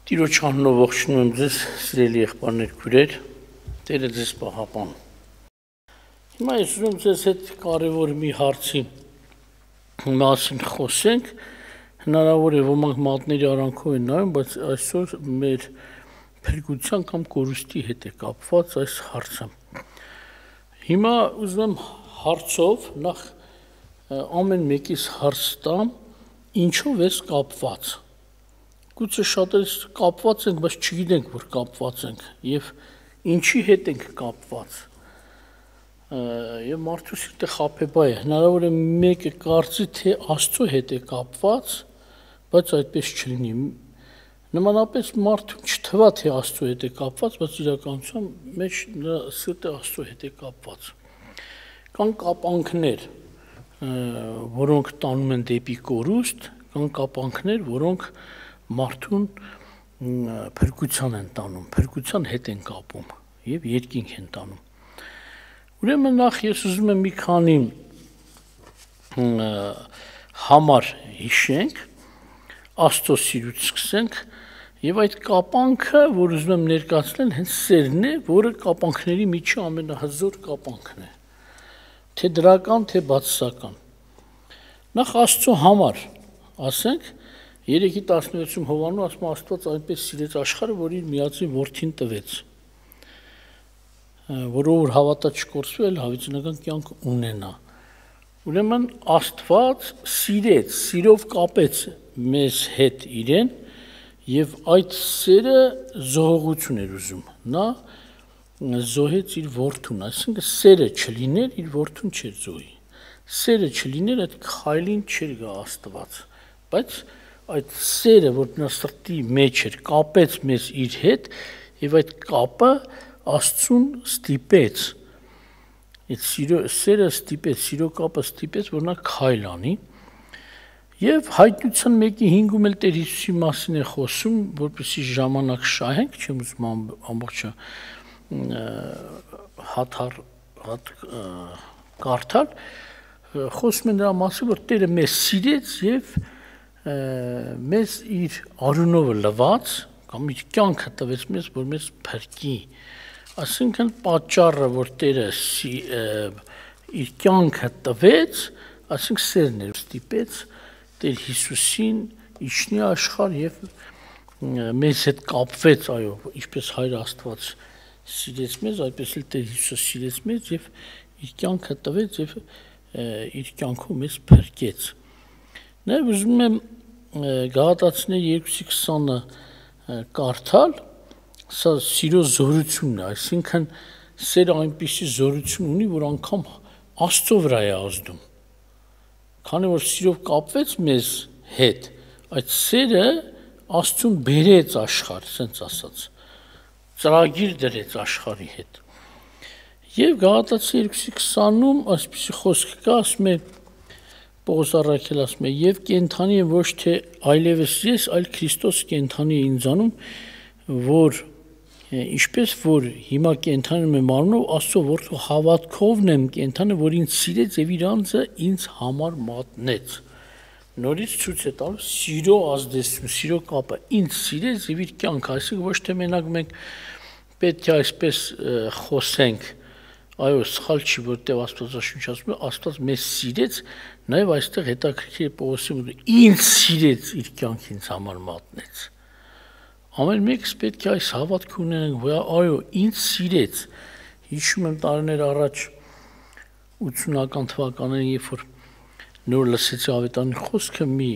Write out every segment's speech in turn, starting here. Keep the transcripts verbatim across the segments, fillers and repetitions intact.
Տիրոջ անունով ողջունում եմ ձեզ, սիրելի եղբայրներ, քույրեր, Տերը ձեզ պահապան։ Հիմա ես ուզում ձեզ հետ կարևոր մի հարցի մասին խոսենք, հնարավոր է ոմանք մատների արանքով են նայում, բայց այսօր մեր փրկության կամ կորուստի հետ է կապված այս հարցը։ Հիմա ուզում եմ հարցով նախ ամեն մեկից հարց տամ, ինչով ես կապված։ Գուցե շատերս կապված ենք, բայց չգիտենք, որ կապված ենք, եւ ինչի հետ ենք կապված։ Եվ մարդու սիրտը խաբեբայ է, հնարավոր է մեկը կարծի, թե Աստծո հետ է կապված, բայց այդպես չլինի։ Նմանապես մարդուն չթվա, թե Աստծո հետ է կապված, բայց իրականության մեջ նրա սիրտը Աստծո հետ է կապված։ Կան կապանքներ, որոնք տանում են դեպի կորուստ, կան կապանքներ, որոնք մարդուն փրկության են տանում, փրկության հետ են կապում եւ երկինք են տանում։ Ուրեմն նախ ես ուզում եմ մի քանի համար հիշենք, Աստծո սիրուց սկսենք եւ այդ կապանքը, որ ուզում եմ ներկայացնել, հենց սերն է, որը կապանքների միջի ամենահզոր կապանքն է, թե դրական, թե բացասական։ Նախ Աստծո համար, ասենք երեքի տասնվեցում Հովանու ասում Աստված այնպես սիրեց աշխարհը, որ իր միածին որդին տվեց, որով որ հավատա չկորսվի, այլ հավիտենական կյանք ունենա։ Ուրեմն Աստված սիրեց, սիրով կապեց մեզ հետ իրեն եւ այդ սերը զոհողություն էր ուզում։ Նա զոհեց իր որդուն, այսինքն սերը չլիներ, իր որդուն չէր զոհի։ Սերը չլիներ, այդ քայլին չէր գա Աստված, բայց այդ սերը, որ նա սրտի մեջ էր, կապեց մեզ իր հետ եւ այդ կապը Աստծուն ստիպեց։ Այդ սիրո սերը ստիպեց, սիրո կապը ստիպեց, որ նա քայլ անի։ Եվ հայտնության մեկի հինգում էլ Տեր Հիսուսի մասին է խոսում, որպեսզի ժամանակ շահենք, չեմ ուզում ամբողջը հաթար հատ կարդալ, խոսում է նրա մասին, որ Տերը մեզ սիրեց եւ մեզ իր արունովը լվաց կամ իր կյանքը տվեց մեզ, որ մեզ փրկի։ Այսինքն պատճառը, որ Տերը իր կյանքը տվեց, այսինքն սերն էր, ստիպեց Տեր Հիսուսին իջնի աշխարհ եւ մեզ հետ կապվեց, այո, ինչպես Հայր Աստված սիրեց մեզ, այդպես էլ Տեր Հիսուսը սիրեց մեզ եւ իր կյանքը տվեց եւ իր կյանքով մեզ փրկեց։ Նաև ուզում եմ Գաղատացիներ երկու քսանը կարդալ, սա սիրո զորությունն է, այսինքն սերը այնպիսի զորություն ունի, որ անգամ Աստծո վրա է ազդում։ Քանի որ սիրով կապվեց մեզ հետ, այդ սերը Աստծուն բերեց աշխարհ, ասենց ասած, ծրագիր դրեց աշխարհի հետ։ Եվ Գաղատացիներ երկու քսանում այսպիսի խոսք կա, ասում է Պողոս առաքյալ ասում է, եւ կենթանի եմ ոչ թե այլևս ես, այլ Քրիստոս կենթանի է ինձանում, որ ինչպես որ հիմա կենթանում եմ մարմնով, Աստծո որդու հավատքովն եմ կենթանը, որ ինձ սիրեց եւ իր անձը ինձ համար մատնեց։ Նորից ցույց է տալու սիրո ազդեցություն, սիրո կապը, ինձ սիրեց եւ իր կյանքը, այսինքն ոչ թե մենակ մենք պետք է այսպես խոսենք, այո, սխալ չի, որտեղ Աստվածաշունչը ասում է, Աստված մեզ սիրեց, նաև այստեղ հետաքրքիր է Պողոսի մոտ, ինձ սիրեց, իր կյանքը ինձ համար մատնեց։ Ամեն մեկս պետք է այս հավատքը ունենանք, որ այո, ինձ սիրեց։ Հիշում եմ տարիներ առաջ ութսունական թվականներին, երբ որ նոր լսեցի ավետարանի խոսքը, մի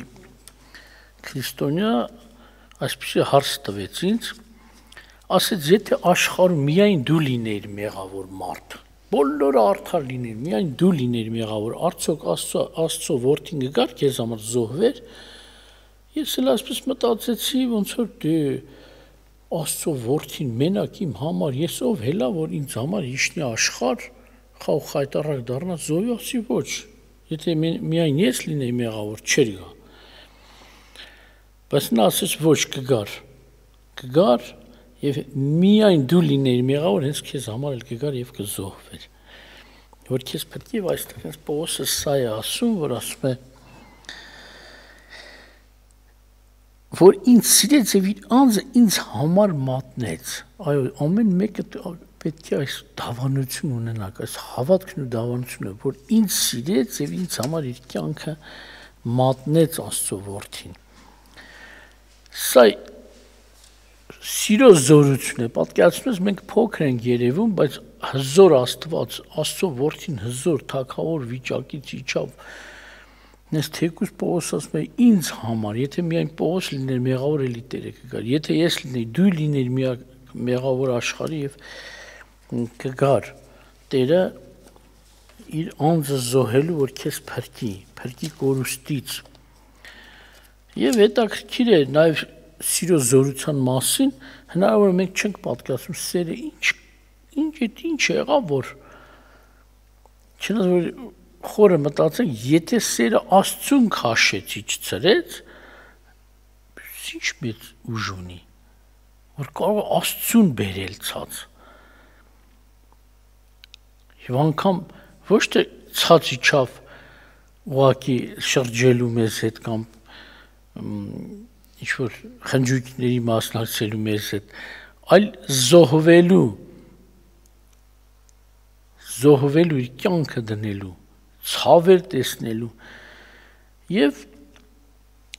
քրիստոնյա այսպիսի հարց տվեց ինձ, ասեց, եթե աշխարհում միայն դու լինեիր մեղավոր մարդ, բոլորը արդար լիներ, միայն դու լիներ մեղավոր, արդյոք Աստծո Աստծո որդին գար քեզ համար զոհվեր։ Ես էլ այսպես մտածեցի, ոնց որ դե Աստծո որդին մենակ իմ համար, ես ով հելա, որ ինձ համար իջնի աշխարհ, խաղ խայտարակ դառնա զոհի, ասի ոչ։ Եթե միայն ես լինեի մեղավոր, չէր գա։ Բայց նա ասեց ոչ, կգար։ Կգար եւ միայն դու լինեիր մեղավոր, հենց քեզ համար էլ կգար եւ կզոհվեր։ Որ քեզ պետք է այստեղ հենց Պողոսը սա է ասում, որ ասում է, որ ինձ սիրեց եւ իր անձը ինձ համար մատնեց։ Այո, ամեն մեկը պետք է այս դավանություն ունենաք, այս հավատքն ու դավանությունը, որ ինձ սիրեց եւ ինձ համար իր կյանքը մատնեց Աստծո որդին։ Սա սիրո զորություն է, պատկերացնում ես մենք փոքր ենք երևում, բայց հզոր Աստված, Աստծո որդին հզոր թագավոր վիճակից իջավ։ Ես թեկուզ Պողոս ասում է ինձ համար, եթե միայն Պողոս լիներ, մեղավոր էլի Տերը կգար, եթե ես լինեի, դու լինեիր միակ մեղավոր աշխարհի եւ կգար Տերը իր անձը զոհելու, որ քեզ փրկի, փրկի կորուստից։ Եվ հետաքրքիր է նաեւ սիրո զորության մասին, հնարավոր է մենք չենք պատկերացնում սերը ինչ ինչ է ինչ եղավ, որ չնայած որ խորը մտածենք, եթե սերը Աստծուն քաշեց իջցրեց, ինչ մեծ ուժ ունի, որ կարող է Աստծուն բերել ցած։ Եվ անգամ ոչ թե ցած իջավ ուղակի շրջելու մեզ հետ կամ ինչ որ խնջույքների մասնակցելու մեզ հետ, այլ զոհվելու զոհվելու իր կյանքը դնելու, ցավեր տեսնելու եւ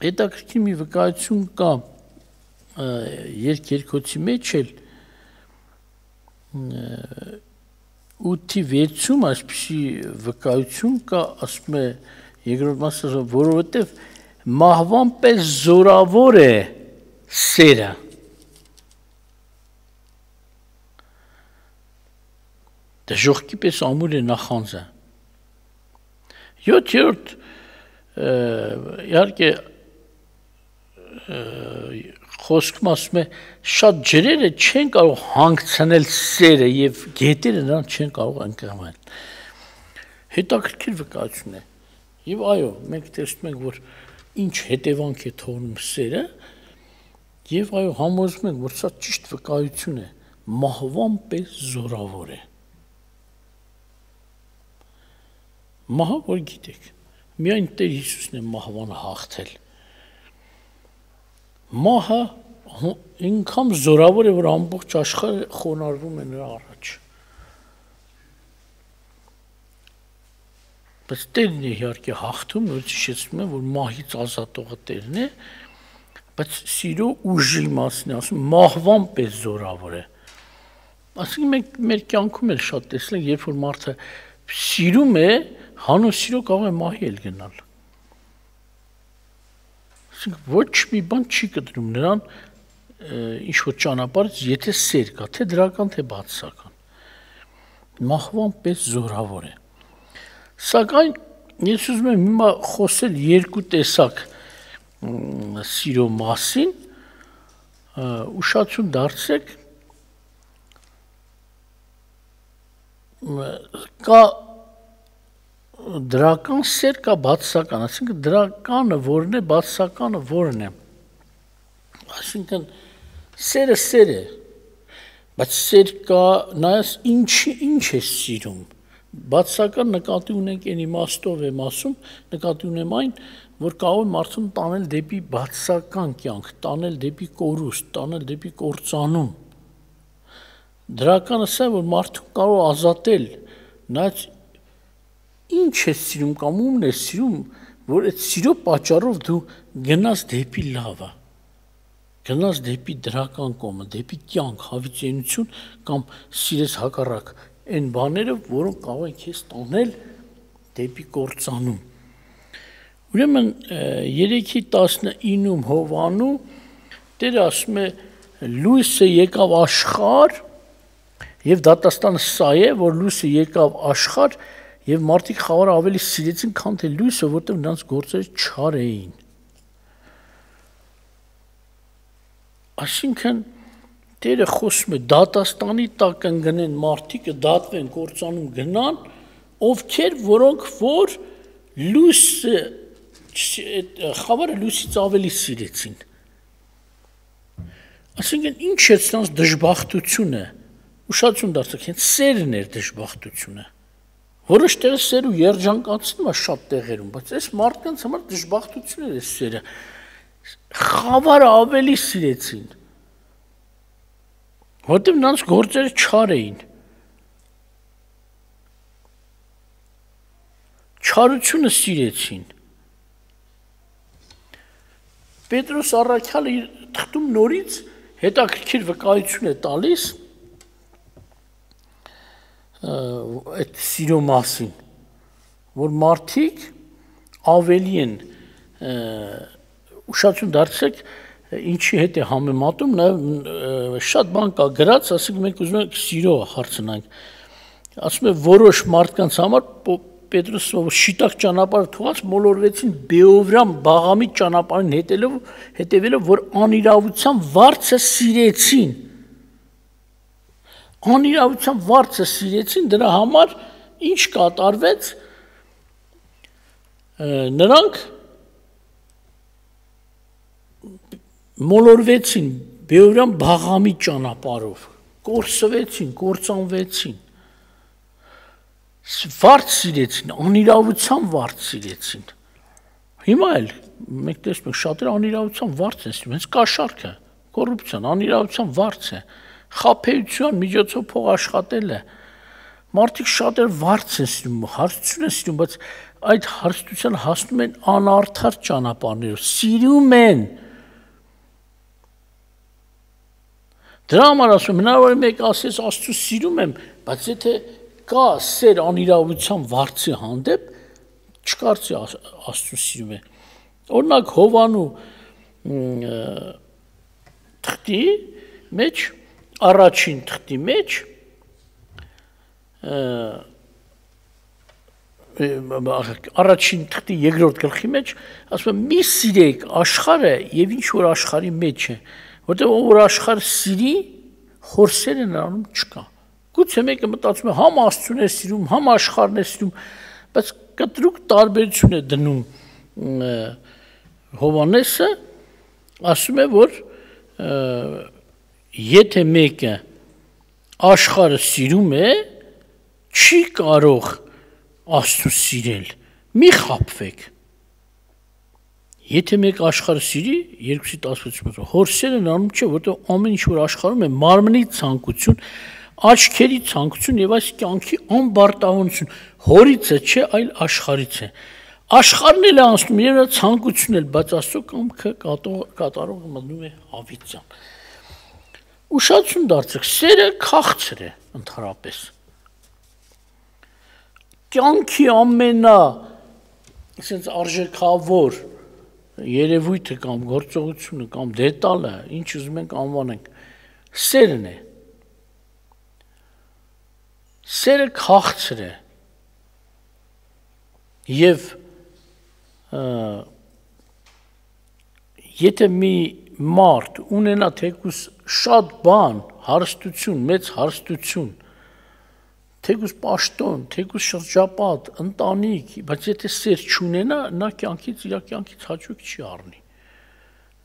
հետաքրքիր մի վկայություն կա երկերկոցի մեջ էլ ութի վեցում այսպիսի վկայություն կա, ասում է երկրորդ մասը, որովհետեւ մահվան պես զորավոր է սերը։ Դժոխքի պես ամուր է նախանձը։ Յոթերորդ իհարկե խոսքում ասում է շատ ջրերը չեն կարող հանգցնել սերը եւ գետերը նրան չեն կարող ընկղմել։ Հետաքրքիր վկայություն է։ Եվ այո, մենք տեսնում ենք, որ ինչ հետևանք է թողնում սերը, եւ այո, համոզում ենք, որ սա ճիշտ վկայություն է, մահվան պես զորավոր է։ Մահը որ գիտեք, միայն Տեր Հիսուսն է մահվանը հաղթել։ Մահը ինքան զորավոր է, որ ամբողջ աշխարհը խոնարհվում է նրա առաջ։ Բայց Տերն է իհարկե հաղթում, նորից հիշեցնում եմ, որ մահից ազատողը Տերն է, բայց սիրո ուժի մասին ասում, մահվան պես զորավոր է։ Այսինքն մենք մեր կյանքում էլ շատ տեսել ենք, երբ որ մարդը սիրում է, հանուն սիրո կարող է մահի էլ գնալ։ Այսինքն ոչ մի բան չի կտրում նրան ինչ որ ճանապարհից, եթե սեր կա, թե դրական, թե բացասական։ Մահվան պես զորավոր է։ Սակայն ես ուզում եմ հիմա խոսել երկու տեսակ սիրո մասին, ուշացում դարձեք, կա դրական սեր, կա բացասական, այսինքն դրականը որն է, բացասականը որն է։ Այսինքն սերը սեր է, բայց սեր կա, նայած ինչի ինչ է սիրում։ Բացասական նկատի ունենք այն իմաստով եմ ասում, նկատի ունեմ այն, որ կարող է մարդուն տանել դեպի բացասական կյանք, տանել դեպի կորուստ, տանել դեպի կործանում։ Դրականը սա որ մարդուն կարող ազատել, նայած ինչ է սիրում կամ ումն է սիրում, որ այդ սիրո պատճառով դու գնաս դեպի լավը, գնաս դեպի դրական կողմը, դեպի կյանք, հավիտենություն կամ սիրես հակառակ այն բաները, որոնք կարող են քեզ տանել դեպի կործանում։ Ուրեմն երեքի տասնինում Հովանու Տերը ասում է լույսը եկավ աշխարհ եւ դատաստանը սա է, որ լույսը եկավ աշխարհ եւ մարդիկ խավարը ավելի սիրեցին, քան թե լույսը, որտեղ նրանց գործերը չար էին։ Այսինքն Տերը խոսում է դատաստանի տակ կընկնեն մարդիկ, դատվեն, կործանում գնան, ովքեր որոնք որ լույսը խավարը լույսից ավելի սիրեցին։ Այսինքն ինչ է նրանց դժբախտությունը, ուշադրություն դարձեք, հենց սերն էր դժբախտությունը։ Որոշ տեղը սերը երջանկացնում է շատ տեղերում, բայց այս մարդկանց համար դժբախտություն էր այս սերը։ Խավարը ավելի սիրեցին, որտեղ նրանց գործերը չար էին, չարությունը սիրեցին։ Պետրոս Առաքյալը իր թղթում նորից հետաքրքիր վկայություն է տալիս այդ սիրո մասին, որ մարդիկ ավելի են ուշադրություն դարձրեք ինչի հետ է համեմատում, նաև շատ բան կա գրած, ասենք մենք ուզում ենք սիրո հարցնանք, ասում է որոշ մարդկանց համար Պետրոսը շիտակ ճանապարհ թողած մոլորվեցին Բեովրամ Բաղամի ճանապարհին հետելով հետևելով որ անիրավության վարձը սիրեցին անիրավության վարձը սիրեցին դրա համար ինչ կատարվեց նրանք մոլորվեցին Բեովրամ Բաղամի ճանապարհով կորսվեցին կործանվեցին վարձ սիրեցին, անիրավության վարձ սիրեցին։ Հիմա էլ մենք տեսնում ենք շատերը անիրավության վարձ են սիրում, հենց կաշառքը, կոռուպցիան, անիրավության վարձ է, խաբեության միջոցով փող աշխատելը։ Մարդիկ շատերը վարձ են սիրում, հարստություն են սիրում, բայց այդ հարստության հասնում են անարդար ճանապարհներով, սիրում են։ Դրա համար ասում եմ, հնարավոր է մեկ ասես Աստծո սիրում եմ, բայց եթե կա սեր անիրավության վարձի հանդեպ չկարծի Աստծո սիրում է օրինակ Հովանու թղթի մեջ առաջին թղթի մեջ առաջին թղթի երկրորդ գլխի մեջ ասում է մի սիրեք աշխարհը եւ ինչ որ աշխարհի մեջ է որտեղ որ աշխարհը սիրի խորսերը նրանում չկա Գուցե մեկը մտածում է համ Աստծուն է սիրում, համ աշխարհն է սիրում, բայց կտրուկ տարբերություն է դնում Հովանեսը, ասում է, որ եթե մեկը աշխարհը սիրում է, չի կարող Աստծուն սիրել, մի խաբվեք։ Եթե մեկ աշխարհը սիրի, երկուսի տասնվեցում հորսերը նրանում չէ, որտեղ ամեն ինչ որ աշխարհում է մարմնի ցանկություն աչքերի ցանկություն եւ այս կյանքի անբարտավանություն հորից է չէ այլ աշխարից է աշխարհն էլ է անցնում եւ նա ցանկությունն էլ բայց Աստծո կամքը կատարողը մտնում է հավիտյան ուշադրություն դարձրեք սերը քաղցր է ընդհանրապես կյանքի ամենա այսպես արժեքավոր երևույթը կամ գործողությունը կամ դետալը ինչ ուզում ենք անվանենք սերն է Սերը քաղցր է եւ եթե մի մարդ ունենա թեկուս շատ բան, հարստություն, մեծ հարստություն, թեկուս պաշտոն, թեկուս շրջապատ, ընտանիք, բայց եթե սեր չունենա, նա կյանքից իր կյանքից հաճույք չի առնի։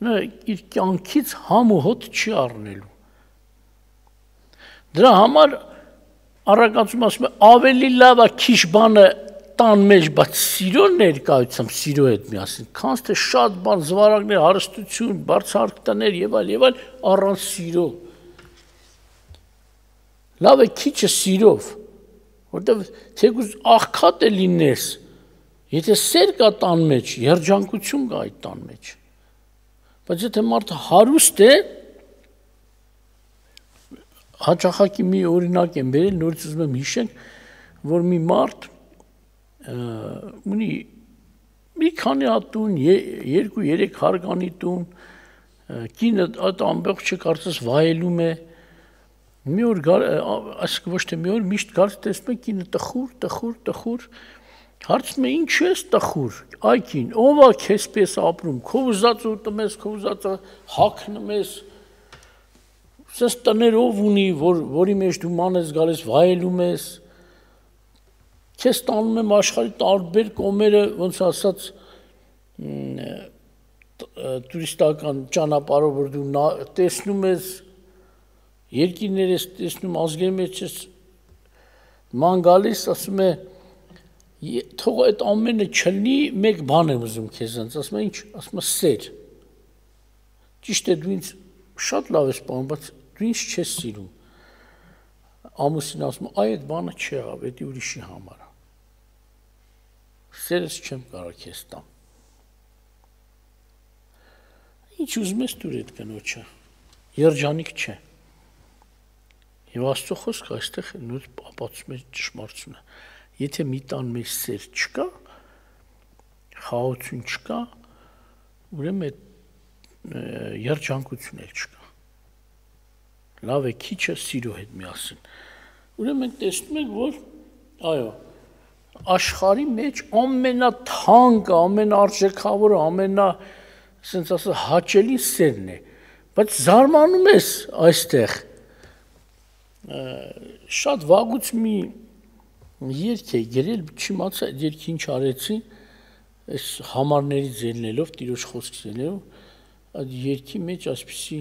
Նա իր կյանքից համ ու հոտ չի առնելու։ Դրա համար Առակացում ասում է ավելի լավ է քիչ բանը տան մեջ, բայց սիրո ներկայությամբ սիրո հետ միասին, քան թե շատ բան զվարակներ, հարստություն, բարձրահարկ տներ եւ այլ եւ այլ առանց սիրո։ Լավ է քիչը սիրով, որտեղ թեկուզ աղքատ է լինես, եթե սեր կա տան մեջ, երջանկություն կա այդ տան մեջ։ Բայց եթե մարդը հարուստ է, հաճախակի մի օրինակ եմ բերել, նորից ուզում եմ հիշենք, որ մի մարդ ունի մի քանի հատ տուն, երկու երեք հարկանի տուն, կինը այդ ամբողջը կարծես վայելում է, մի օր այսինքն ոչ թե մի օր միշտ գալիս տեսնում է կինը տխուր, տխուր, տխուր, հարցնում է ինչ ես տխուր, այ կին, ով է քեզ պես ապրում, քո ուզածը ուտում ես, քո ուզածը հագնում ես Սենց տներով ունի, որ, որի մեջ դու ման ես գալիս, վայելում ես, քեզ տանում եմ աշխարհի տարբեր կողմերը, ոնց ասած, տուրիստական ճանապարհով, որ դու տեսնում ես, երկիրներ ես տեսնում, ազգերի մեջ ես ման գալիս, ասում է, թող այդ ամենը չլինի, մեկ բան եմ ուզում քեզանց, ասում է ինչ, ասում է սեր, ճիշտ է դու ինձ շատ լավ ես պահում, բայց դու ինձ չես սիրում։ Ամուսին ասում, այ այդ բանը չեղավ, դա ուրիշի համար է։ Սերս չեմ կարող քեզ տամ։ Ինչ ուզում ես դուր այդ կնոջը։ Երջանիկ չէ։ Եվ Աստծո խոսքը այստեղ նույն ապացուցում է ճշմարտությունը։ Եթե մի տան մեջ սեր չկա, խաղաղություն չկա, ուրեմն այդ երջանկություն էլ չկա։ Լավ է քիչը սիրո հետ միասին։ Ուրեմն մենք տեսնում ենք, որ այո, աշխարհի մեջ ամենաթանկը, ամենարժեքավորը, ամենա, ասենց ասած, հաճելի սերն է, բայց զարմանում ես այստեղ շատ վաղուց մի երգ է գրել, չիմացա այդ երգի ինչ արեցի, այս համարներից ելնելով, տիրոջ խոսքից ելնելով, այդ երգի մեջ այսպիսի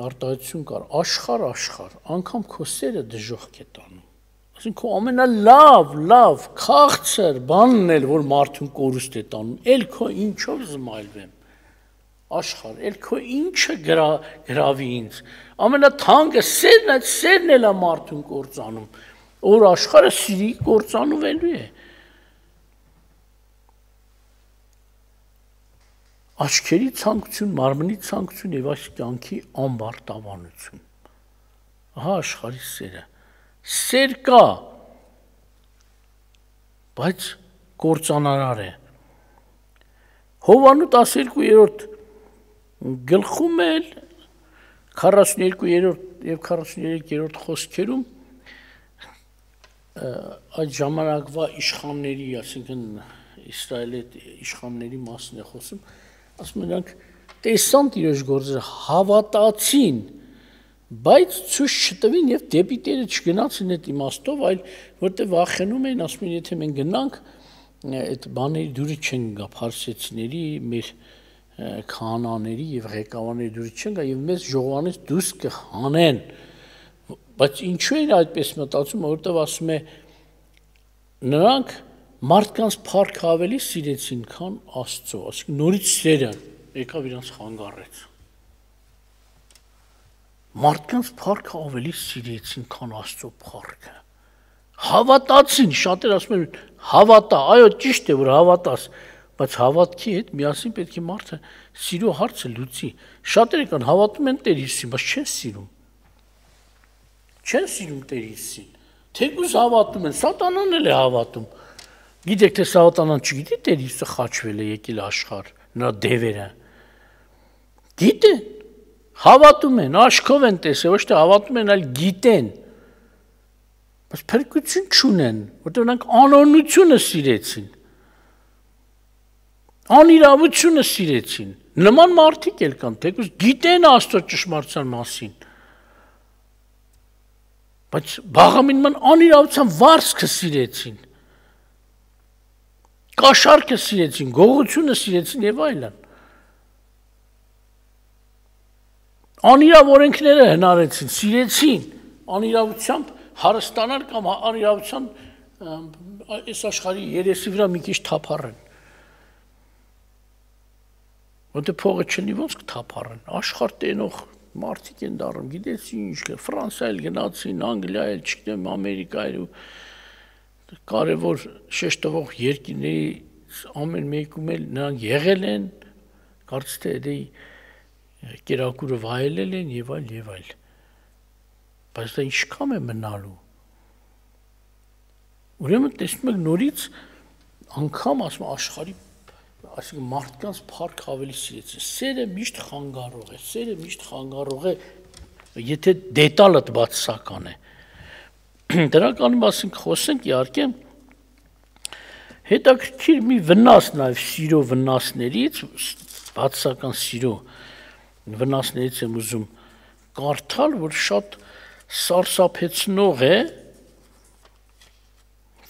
արտահայտություն կար, աշխարհ, աշխարհ, անգամ քո սերը դժոխք է տանում։ Այսինքն քո ամենալավ, լավ, քաղցր բանն էլ, որ մարդուն կորուստ է տանում, էլ քո ինչով զմայլվեմ։ Աշխարհ, էլ քո ինչը գրավի ինձ։ Ամենաթանկը սերն է, սերն էլ է մարդուն կործանում, որ աշխարհը սիրի կործանվելու է։ Աչքերի ցանկություն, մարմնի ցանկություն եւ այս կյանքի ամբարտավանություն։ Ահա աշխարհի սերը։ Սեր կա, բայց կործանարար է։ Հովանու տասներկուերորդ գլխում էլ քառասուներկուերորդ եւ քառասուներեքերորդ խոսքերում այդ ժամանակվա իշխանների, այսինքն Իսրայելի իշխանների մասն է խոսում, ասում նրանք տեսան Տիրոջ գործերը, հավատացին, բայց ցույց չտվին եւ դեպի Տերը չգնացին այդ իմաստով, այլ որտեղ վախենում էին, ասում են, եթե մենք գնանք, այդ բաների դուրը չեն գա, փարսեցիների, մեր քահանաների եւ ղեկավարների դուրը չեն գա եւ մեզ ժողովանից դուրս կհանեն։ Բայց ինչու են այդպես մտածում, որտեղ ասում է նրանք մարդկանց փառքը ավելի սիրեցին, քան Աստծո, այսինքն նորից սերը եկավ իրանց խանգարեց։ Մարդկանց փառքը ավելի սիրեցին, քան Աստծո փառքը։ Հավատացին, շատեր ասում են, հավատա, այո, ճիշտ է, որ հավատաս, բայց հավատքի հետ միասին պետք է մարդը սիրո հարցը լուծի։ Շատերը կան հավատում են Տեր Հիսուսին, բայց չեն սիրում։ Չեն սիրում Տեր Հիսուսին։ Թեկուզ հավատում են, Սատանան էլ է հավատում։ Գիտեք թե Սատանան չգիտի Տեր Հիսուսը խաչվել է եկել աշխարհ, նրա դևերը։ Գիտեն, հավատում են, աչքով են տեսել, ոչ թե հավատում են, այլ գիտեն։ Բայց փրկություն չունեն, որտեղ նրանք անօրնությունը սիրեցին։ Անիրավությունը սիրեցին։ Նման մարդիկ էլ կան, թեկուզ գիտեն Աստծո ճշմարտության մասին։ Բայց բաղամին անիրավության վարձքը սիրեցին։ Կաշառքը սիրեցին, գողությունը սիրեցին եւ այլն։ Անիրավ օրենքները հնարեցին, սիրեցին, անիրավությամբ հարստանալ կամ անիրավության այս աշխարհի երեսի վրա մի քիչ թափառեն։ Որտե փողը չլինի ոնց կթափառեն, աշխարհ տենող մարդիկ են դառնում, գիտես ինչ, Ֆրանսիայել գնացին, Անգլիայել, չգիտեմ, Ամերիկայել ու կարևոր շեշտվող երկրների ամեն մեկում էլ նրանք եղել են, կարծես թե դա կերակուրը վայելել են եւ այլ եւ այլ։ Բայց դա ինչքան է մնալու։ Ուրեմն տեսնում եք նորից անգամ ասում աշխարհի, այսինքն մարդկանց փառք ավելի սիրեցին։ Սերը միշտ խանգարող է, սերը միշտ խանգարող է, եթե դետալը բացասական է։ Դրական մասին խոսենք իհարկե հետաքրքիր մի վնաս նաև սիրո վնասներից, բացասական սիրո վնասներից եմ ուզում կարդալ, որ շատ սարսափեցնող է,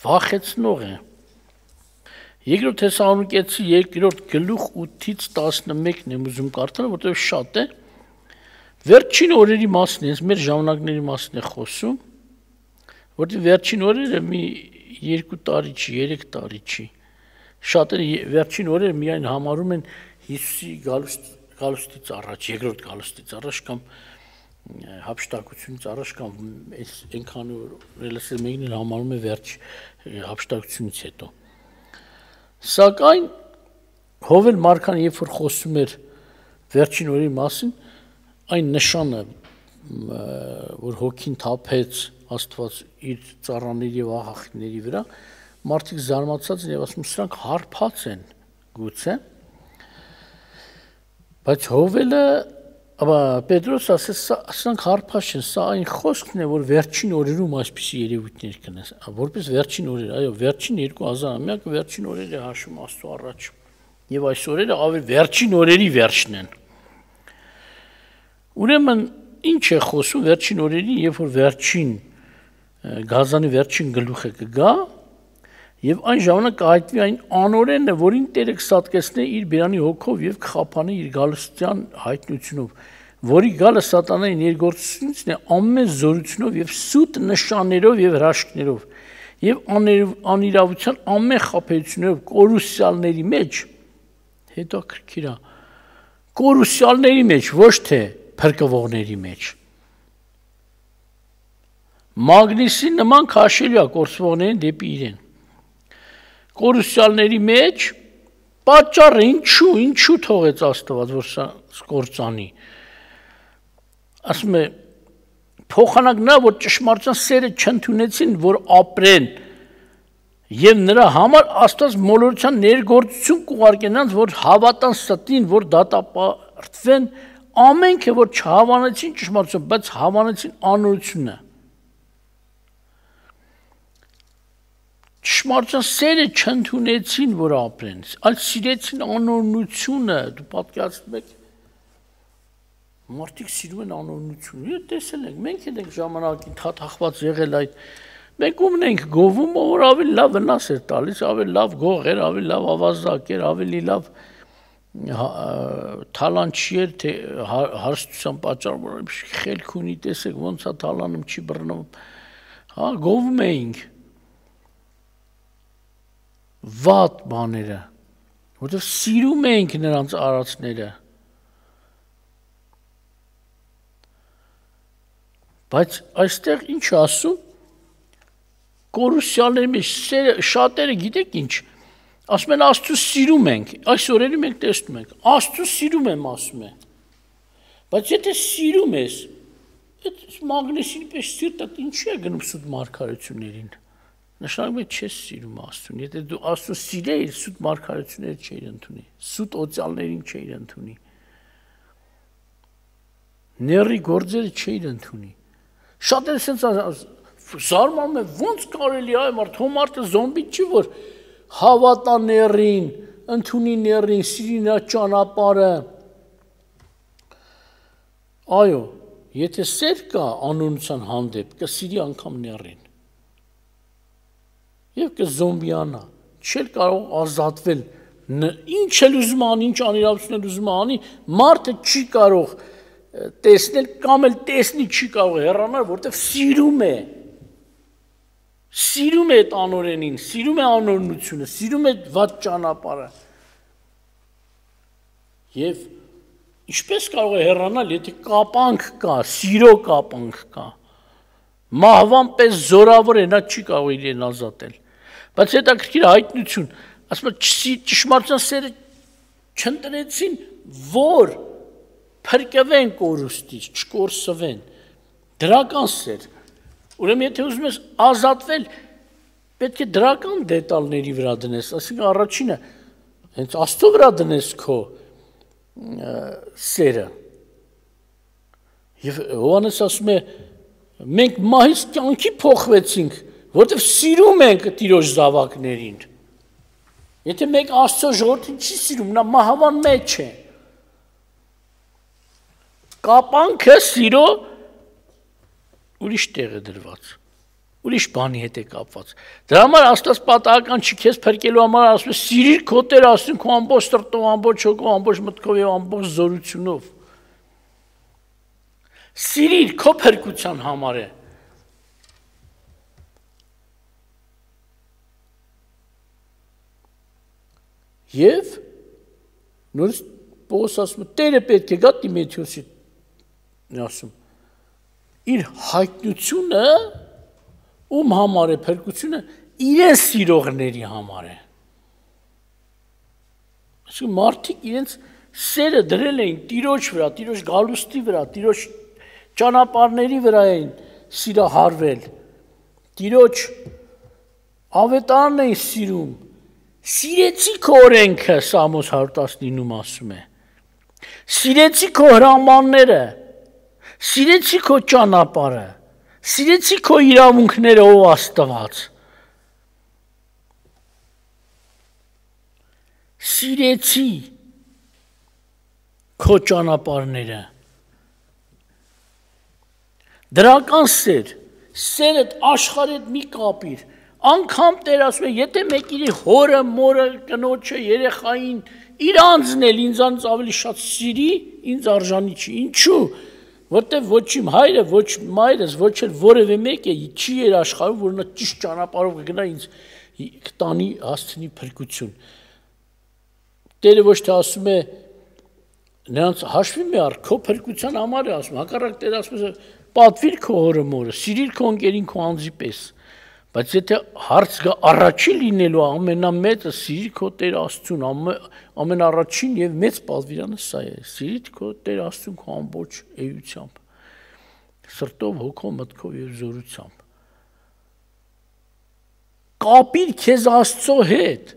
վախեցնող է։ Երկրորդ Թեսաղոնիկեցի երկրորդ գլուխ ութից տասնմեկն եմ ուզում կարդալ, որտեղ շատ է։ Վերջին օրերի մասն է, մեր ժամանակների մասն է խոսում, որտեղ վերջին օրերը մի երկու տարի չի, երեք տարի չի։ Շատերը վերջին օրերը միայն համարում են Հիսուսի գալուց գալուստից առաջ, երկրորդ գալուստից առաջ կամ հափշտակությունից առաջ կամ այս այնքան ռելասիվ մեկն համարում է վերջ հափշտակությունից հետո։ Սակայն Հովել Մարքան երբ որ խոսում էր վերջին օրերի մասին, այն նշանը, որ հոգին թափեց Աստված իր ծառաների եւ աղախինների վրա, մարդիկ զարմացած են եւ ասում սրանք հարբած են գուցե, բայց Հովելը, ապա Պետրոս ասեց սրանք հարբած չեն, սա այն խոսքն է, որ վերջին օրերում այսպիսի երևույթներ կնես, որպես վերջին օրեր, այո, վերջին երկու հազար ամյակը վերջին օրեր է հաշվում Աստծո առաջ, եւ այս օրերը ավելի վերջին օրերի վերջն են։ Ուրեմն ինչ է խոսում վերջին օրերի, երբ որ վերջին գազանի վերջին գլուխը կգա, եւ այն ժամանակ կհայտնվի այն անօրենը, որին Տերը կսատկեցնե իր բերանի հոգով եւ կխափանի իր գալստյան հայտնությունով, որի գալը սատանայի ներգործությունից է ամեն զորությունով եւ սուտ նշաններով եւ հրաշքներով եւ անիրավության ամեն խաբեություններով կորուսյալների մեջ, հետո քրքիրա, կորուսյալների մեջ, ոչ թե փրկվողների մեջ։ Մագնիսի նման քաշելու է կորսվողներին դեպի իրեն։ Կորուսյալների մեջ պատճառը ինչու, ինչու թողեց Աստված, որ սա կործանի։ Ասում է, փոխանակ նա, որ ճշմարտության սերը չընդունեցին, որ ապրեն, եւ նրա համար Աստված մոլորության ներգործություն կուղարկե նրանց, որ հավատան ստին, որ դատապարտվեն, ամենքը, որ չհավանեցին ճշմարտություն, բայց հավանեցին անօրությունը։ Ճշմարտության սերը չընդունեցին, որ ապրեն, այլ սիրեցին անօրնությունը, դու պատկերացնում եք, մարդիկ սիրում են անօրնությունը, եւ տեսել ենք, մենք ենք ժամանակին թաթախված եղել այդ, մենք ումն ենք գովում, որ ավելի լավ վնաս էր տալիս, ավելի լավ գող էր, ավելի լավ ավազակ էր, ավելի լավ թալանչի էր, թե հարստության պատճառով, որ խելք ունի, տեսեք, ոնց է թալանում, չի բռնում, հա, գովում էինք վատ բաները, որտեղ սիրում ենք նրանց արածները, բայց այստեղ ինչ ասում, կորուսյալների մեջ շատերը գիտեք ինչ, ասում են Աստծո սիրում ենք, այս օրերի մենք տեսնում ենք, Աստծո սիրում եմ ասում է, բայց եթե սիրում ես, այդ մագնեսին պես սիրտդ ինչի է գնում սուտ մարգարեություններին, նշանակում է չես սիրում Աստծուն, եթե դու Աստծուն սիրեիր, սուտ մարգարեությունները չէիր ընդունի, սուտ օծյալներին չէիր ընդունի, ների գործերը չէիր ընդունի, շատերը սենց զարմանում է, ոնց կարելի է մարդ, հո մարդը զոմբի չի, որ հավատա ներին, ընդունի ներին, սիրի նրա ճանապարհը, այո, եթե սեր կա անօրնության հանդեպ, կսիրի անգամ ներին, եւ կզոմբիանա, չէր կարող ազատվել, ինչ էլ ուզում անի, ինչ անիրավություն էլ ուզում անի, մարդը չի կարող տեսնել կամ էլ տեսնի չի կարող հեռանալ, որտեղ սիրում է, սիրում է այդ անօրենին, սիրում է անօրնությունը, սիրում է վատ ճանապարհը, եւ ինչպես կարող է հեռանալ, եթե կապանք կա, սիրո կապանք կա, մահվան պես զորավոր է, նա չի կարող իրեն ազատել, բայց հետաքրքիր հայտնություն, ասում է ճշմարտության սերը չընտրեցին, որ փրկվեն կորուստից, չկորսվեն, դրական սեր, ուրեմն եթե ուզում ես ազատվել, պետք է դրական դետալների վրա դնես, ասենք առաջինը, հենց Աստծո վրա դնես քո սերը, եւ Հովհաննես ասում է, մենք մահից կյանքի փոխվեցինք, որտեղ սիրում ենք Տիրոջ զավակներին, եթե մեկ Աստծո ժողովրդին չի սիրում, նա մահվան մեջ է, կապանքը սիրո ուրիշ տեղ է դրված, ուրիշ բանի հետ է կապված, դրա համար Աստված պատահական չի քեզ փրկելու համար, ասում է սիրիր քո Տեր Աստծուն քո ամբողջ սրտով, ամբողջ հոգով, ամբողջ մտքով եւ ամբողջ զորությունով, սիրիր քո փրկության համար է, եւ նորից Պողոս ասում է, Տերը պետք է գա Տիմոթեոսի, ասում, իր հայտնությունը, ում համար է փրկությունը, իրեն սիրողների համար է։ Այսինքն մարդիկ իրենց սերը դրել էին Տիրոջ վրա, Տիրոջ գալուստի վրա, Տիրոջ ճանապարհների վրա էին սիրահարվել, Տիրոջ ավետարանն էին սիրում, սիրեցի քո օրենքը, Սամոս հարյուր տասնինում ասում է, սիրեցի քո հրամանները, սիրեցի քո ճանապարհը, սիրեցի քո իրավունքները, ով Աստված, սիրեցի քո ճանապարհները, դրական սեր, սերդ աշխարհի հետ մի կապիր, անգամ Տեր ասում է, եթե մեկի հորը, մորը, կնոջը, երեխային, իր անձն էլ ինձանից ավելի շատ սիրի, ինձ արժանի չի, ինչու, որտեղ ոչ իմ հայրը, ոչ մայրս, ոչ էլ որևէ մեկը չի երաշխարում, որ նա ճիշտ ճանապարհով կգնա ինձ կտանի հասցնի փրկություն։ Տերը ոչ թե ասում է նրանց հաշվի մի առ քո փրկության համար է ասում, հակառակ Տերը ասում է պատվիր քո հորը մորը, սիրիր քո ընկերին քո անձի պես, բայց եթե հարց գա առաջին լինելու ամենամեծը սիրիր քո Տեր Աստծուն, ամենառաջին եւ մեծ պատվիրանը սա է, սիրիր քո Տեր Աստծուն քո ամբողջ էությամբ, սրտով, հոգով, մտքով եւ զորությամբ։ Կապիր քեզ Աստծո հետ,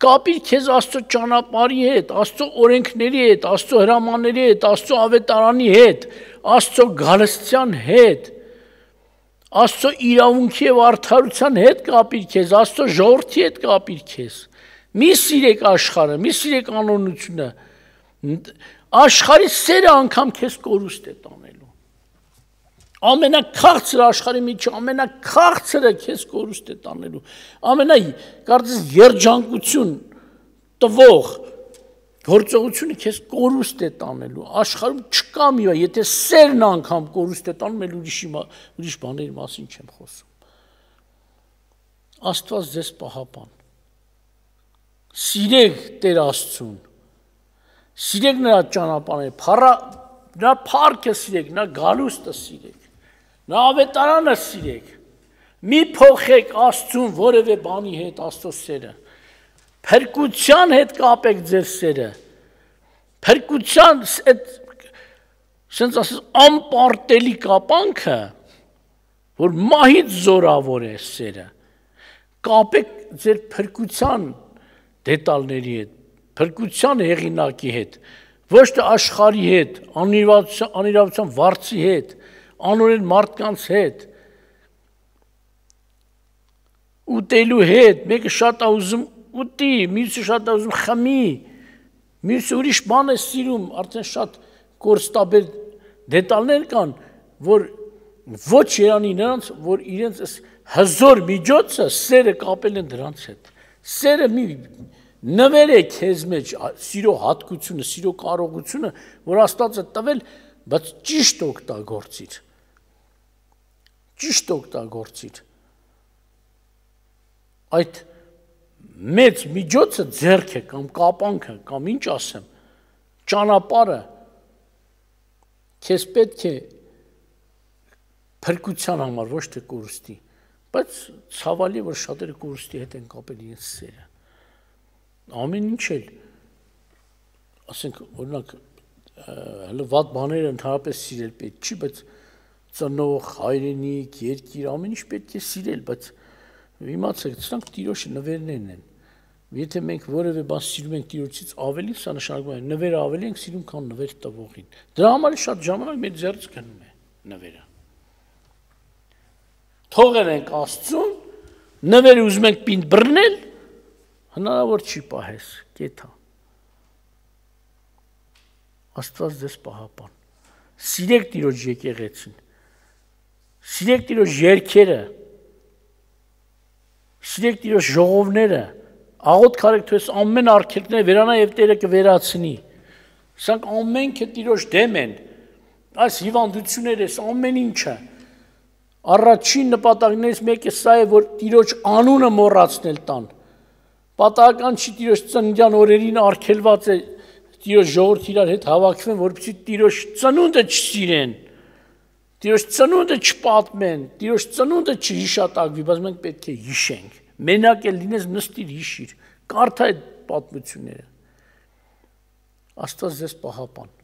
կապիր քեզ Աստծո ճանապարհի հետ, Աստծո օրենքների հետ, Աստծո հրամանների հետ, Աստծո ավետարանի հետ, Աստծո գալստյան հետ, Աստծո իրավունքի եւ արդարության հետ կապիր քեզ, Աստծո ժողովրդի հետ կապիր քեզ։ Մի սիրեք աշխարհը, մի սիրեք անօնությունը։ Աշխարհի սերը անգամ քեզ կորուստ է տանելու։ Ամենաքաղցր աշխարհի միջի ամենաքաղցրը քեզ կորուստ է տանելու։ Ամենա կարծես երջանկություն տվող գործողությունը քեզ կորուստ է տանելու։ Աշխարհում չկա մի բան, եթե սերն անգամ կորուստ է տանում, էլ ուրիշի ուրիշ բաների մասին չեմ խոսում։ Աստված ձեզ պահապան։ Սիրեք Տեր Աստծուն։ Սիրեք նրա ճանապարհները, փառա նրա փառքը սիրեք, նրա գալուստը սիրեք, նրա ավետարանը սիրեք։ Մի փոխեք Աստծուն որևէ բանի հետ Աստծո սերը։ Փրկության հետ կապեք ձեր սերը։ Փրկության այդ sense ասես անպարտելի կապանքը, որ մահից զորավոր է սերը։ Կապեք ձեր փրկության դետալների հետ, փրկության հեղինակի հետ, ոչ թե աշխարհի հետ, անիրավության, անիրավության վարձի հետ, անօրեն մարդկանց հետ, ուտելու հետ, մեկը շատ է ուզում ուտի, մյուսը շատ է ուզում խմի, մյուսը ուրիշ բան է սիրում, արդեն շատ կորստաբեր դետալներ կան, որ ոչ երանի նրանց, որ իրենց հզոր միջոցը սերը կապել են դրանց հետ։ Սերը մի նվեր է քեզ մեջ սիրո հատկությունը, սիրո կարողությունը, որ Աստված է տվել, բայց ճիշտ օգտագործիր։ Ճիշտ օգտագործիր։ Այդ մեծ միջոցը ձեռք է կամ կապանքը կամ ինչ ասեմ, ճանապարհը քեզ պետք է փրկության համար, ոչ թե կորուստի, բայց ցավալի է, որ շատերը կորուստի հետ են կապել իրենց սերը։ Ամեն ինչ էլ, ասենք, օրինակ, հələ վատ բաները ընդհանրապես սիրել պետք չի, բայց ծնող, հայրենիք, երկիր, ամեն ինչ պետք է սիրել, բայց իմացեք, սրանք Տիրոջ նվերներն են։ Եթե մենք որևէ բան սիրում ենք Տիրոջից ավելի, սա նշանակում է նվերը ավելի ենք սիրում, քան նվեր տվողին։ Դրա համար շատ ժամանակ մեր ձեռքից գնում է նվերը։ Թողել ենք Աստծուն, նվերը ուզում ենք պինդ բռնել, հնարավոր չի պահես, կեթա։ Աստված ձեզ պահապան։ Սիրեք Տիրոջ եկեղեցին։ Սիրեք Տիրոջ երգերը։ Սիրեք Տիրոջ ժողովները։ Աղոթք արեք, թե ամեն արգելքները վերանա եւ Տերը կվերացնի։ Սրանք ամենքը Տիրոջ դեմ են։ Այս հիվանդությունները, ամեն ինչը։ Առաջին նպատակներից մեկը սա է, որ Տիրոջ անունը մոռացնել տան։ Պատահական չի Տիրոջ ծննդյան օրերին արգելված է Տիրոջ ժողովուրդ իրար հետ հավաքվեն, որպեսզի Տիրոջ ծնունդը չսիրեն, Տիրոջ ծնունդը չպատմեն, Տիրոջ ծնունդը չհիշատակվի, բայց մենք պետք է հիշենք։ Մենակ էլ լինես նստիր հիշիր, կարդա այդ պատմությունները։ Աստված ձեզ պահապան։